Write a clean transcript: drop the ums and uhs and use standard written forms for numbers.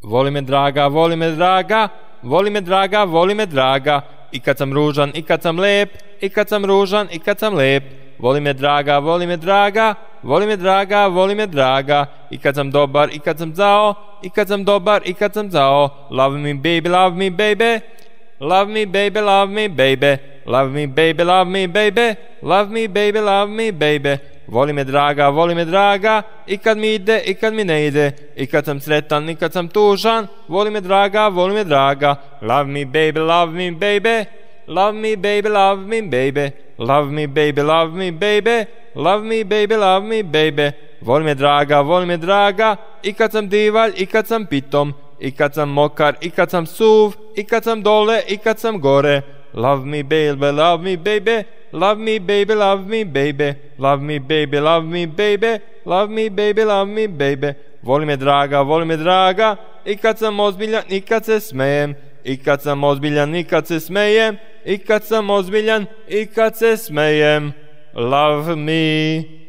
Voli me draga, voli me draga, voli me draga, voli me draga. I kad sam ružan, i kad sam lep, i kad sam ružan, i kad sam lep. Voli me draga, voli me draga, voli me draga, voli me draga. I kad sam dobar, i kad sam zao, i kad sam dobar, i kad sam zao. Love me baby, love me baby. Love me baby, love me baby. Love me baby, love me baby. Love me baby, love me baby. Voli me draga, i kad mi ide, i kad mi ne ide. I kad sam sretan, i kad sam tužan. Voli me draga, voli me draga. Love me baby, love me baby. Love me baby, love me baby. Love me baby, love me baby. Love me baby, love me baby. Voli me draga, i kad sam divalj, i kad sam pitom. I kad sam mokar, i kad sam suv. I kad sam dole, i kad sam gore. Love me baby, love me baby. Love me baby, love me baby. Love me baby, love me baby. Love me baby, love me baby. Voli me draga, i kad sam ozbiljan, i kad se smejem. I kad sam ozbiljan, i kad se smejem. I kad sam ozbiljan, i kad se smejem. Love me.